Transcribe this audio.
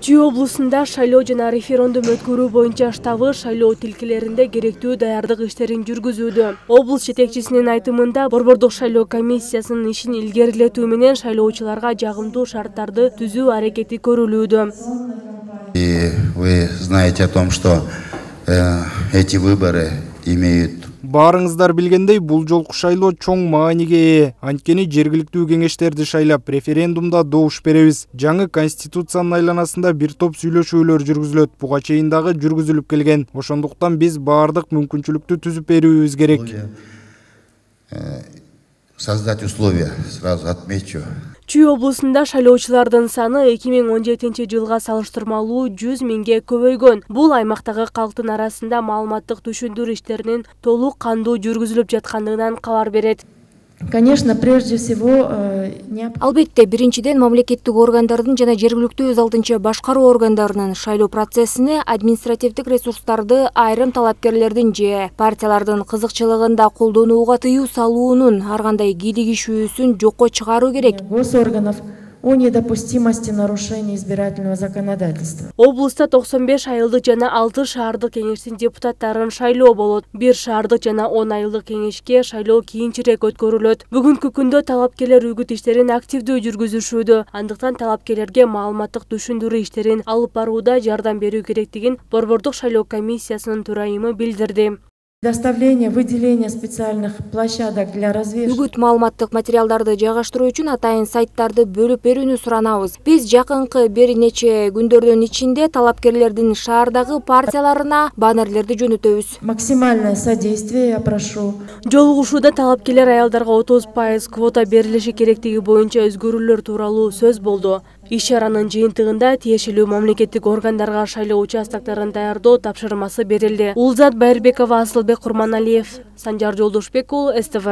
Чүй облусунда шайлоо жана референдум өткөрүү боюнча штабы шайлоо тилкелеринде керектүү даярдык иштерин жүргүзүүдө. Облус жетекчисинин айтымында Борбордук шайлоо комиссиясынын ишин илгерилетүү менен шайлоочуларга жагымдуу шарттарды түзүү аракети көрүлүүдө. И вы знаете о том, что эти выборы имеют. Баарыңыздар билгендей, бул жолку шайлоо чоң мааниге ээ. Анткени жергиликтүү кеңештерди шайлап, референдумда добуш беребиз. Жаңы конституциянын айланасында бир топ сүйлөшүүлөр жүргүзүлөт. Буга чейин дагы жүргүзүлүп келген. Ошондуктан биз баардык мүмкүнчүлүктү түзүп берүүбүз керек. Создать условия, сразу отмечу. Чүй облусунда шайлоочулардын саны 2017 жылга салыштырмалуу 100 миңге көбөйгөн. Бул аймактагы калктын арасында маалыматтык түшүндүрүү иштеринин толук кандуу жүргүзүлүп жаткандыгынан кабар берет. Конечно, прежде всего, албетте, биринчиден мамлекеттик органдардын жана жергиликтүү өз алдынча башкаруу органдарынын шайлоо процессине административдик ресурстарды айрым талапкерлердин же партиялардын кызыкчылыгында колдонууга тыюу салуунун ар кандай кийлигишүүсүн жокко чыгаруу керек. Госорганов о недопустимости нарушения избирательного законодательства. Облуста 95 айылдык жана 6 шаардык кеңештин депутаттарын шайлоо болот. 1 шаардык жана 10 айылдык кеңешке шайлоо кийинчерээк өткөрүлөт. Бүгүнкү күндө талапкерлер үгүт иштерин активдүү жүргүзүшүүдө. Андыктан талапкерлерге маалыматтык түшүндүрүү иштерин алып барууда жардам берүү керектигин Борбордук шайлоо комиссиясынын төрайымы билдирди. Доставление, выделение специальных площадок для развешивания. Үгүт маалыматтык материалдарды жайгаштыруу үчүн атайын сайттарды бөлүп берүүнү суранабыз. Биз жакынкы бир нече күндөрдүн ичинде талапкерлердин шаардагы партияларына баннерлерди жөнөтөбүз. Максимальное содействие я прошу. Жолугушууда талапкерлер аялдарга 30% квота берилиши керектиги боюнча өзгөрүүлөр тууралуу сөз болду. Иш-чаранын жыйынтыгында тиешелүү мамлекеттик органдарга шайлоо участокторун даярдоо тапшырмасы берилди. Улзат Байырбекова, Асылбек Курманалиев, Санжар Жолдошбек уулу, СТВ.